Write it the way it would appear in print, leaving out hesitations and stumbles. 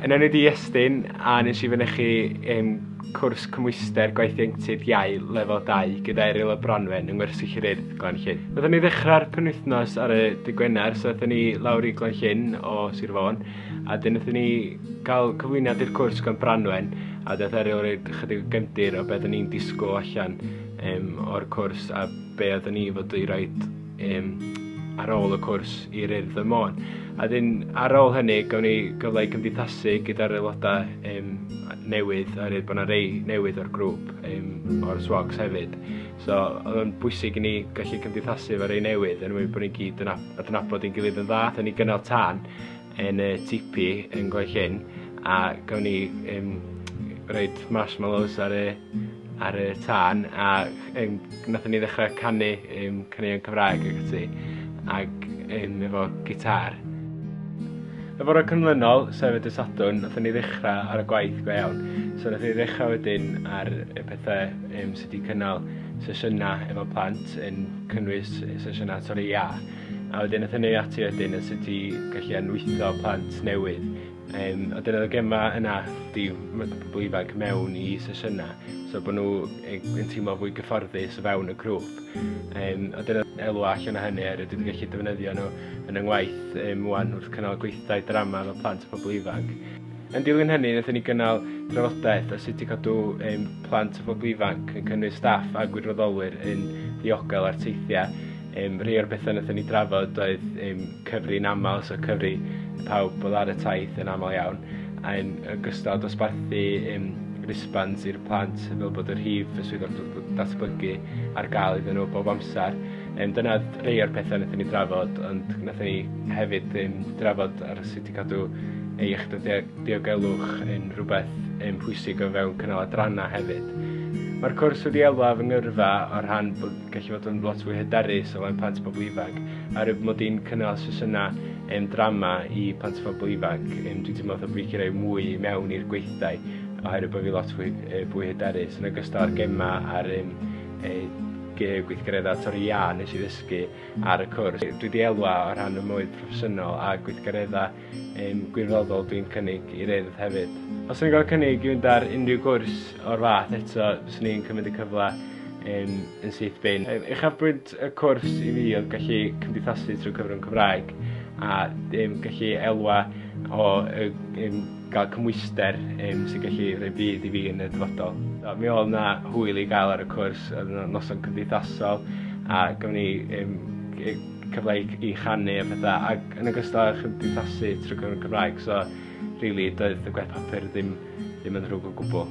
Yn enw di Iestyn a nes i fynychu cwrs cymhwyster gwaith ieuenctid iau lefel 2 gyda Eryl a Bronwen yng Ngwersyll yr Urdd Glan-llyn. Nathon ni ddechrau'r penwythnos ar y dydd Gwener, so aethon ni lawr i Glan-llyn o Sir Fôn a 'dyn nathon ni gael cyflwyniad i'r cwrs gan Branwen a daeth Eryl roid chydig o gefndir o be oedden ni'n disgwyl allan o'r cwrs a be oedden ni fod i roid ar ôl y cwrs i'r Urdd ym Môn. A dyn ar ôl hynny gawn ni gyfle i cymdeithasu gyda'r aelodau newydd oherwydd bod 'na rei newydd o'r grŵp o'r SWOGs hefyd. So oedd o'n bwysig i ni gallu cymdeithasu efo rei newydd er mwyn bod ni gyd yn adnabod ein gilydd yn dda. Aethon ni gynnal tân yn y tipi yn Glan-llyn a gawn ni roid marshmallows ar y ar y tân a nathon ni ddechrau canu caneuon Cymraeg ac ati ac efo gitar. Y bore canlynol, sef y dydd Sadwrn, nathon ni ddechrau ar y gwaith go iawn. So nathon ni ddechrau wedyn ar y pethau sut i cynnal sesiynau efo plant yn cynnwys sesiynau torri iâ. A wedyn nathon ni ati wedyn yn sut i gallu anwytho plant newydd. A dyna oedd y gemau yna 'di pobl ifanc mewn i sesiynau, so bod nhw yn teimlo fwy gyfforddus o fewn y grŵp. A dyna elwa allan o hynny oherwydd dwi 'di gallu defnyddio nhw yn 'y ngwaith ŵan wrth cynnal gweithdai drama efo plant a phobl ifanc. Yn dilyn hynny wnaethon ni gynnal trafodaeth o sut i cadw plant a phobl ifanc yn cynnwys staff a gwirfoddolwyr yn ddiogel ar teithiau. Rhai o'r bethau wnaethon ni drafod oedd cyfri'n aml, so cyfri pawb oedd ar y taith yn aml iawn, a yn ogystal dosbarthu wristbands i'r plant fel bod y rhif y swyddog datblygu ar gael iddyn nhw bob amser. Dyna rhai o'r pethau wnaethon ni drafod, ond wnaethon ni hefyd drafod ar sut i cadw ei iechyd a diogelwch yn rhywbeth pwysig o fewn cynnal adrannau hefyd. Mae'r cwrs wedi elwa fy ngyrfa o rhan bod gallu fod yn lot fwy hyderus o flaen plant a bobl ifanc. Oherwydd mod i'n cynnal sesiynau drama i plant a phobl ifanc, dwi'n teimlo fatha bod fi 'llu rhoi mwy i mewn i'r gweithdai oherwydd bod fi lot fwy, fwy hyderus yn ogystal â'r gemau a'r gweithgareddau torri iâ nes i ddysgu ar y cwrs. Dwi 'di elwa o rhan y mywyd proffesiynol a gweithgareddau gwirfoddol dwi'n cynnig i'r Urdd hefyd. Os o'n i'n cael cynnig i fynd ar unrhyw gwrs o'r fath eto, fyswn i'n cymryd y cyfle yn syth bin. Uchafbwynt y cwrs i fi oedd gallu cymdeithasu trwy cyfrwng Cymraeg a gallu elwa o gael cymhwyster sy'n gallu rhoi budd i fi yn y dyfodol. So, mi oedd 'na hwyl i gael ar y cwrs, oedd 'na noson cymdeithasol a gafon ni cyfle i chanu a pethau ac yn ogystal â chymdeithasu trwy gyfrwng Cymraeg so rili doedd y gwaith papur ddim ddim yn ddrwg o gwbl.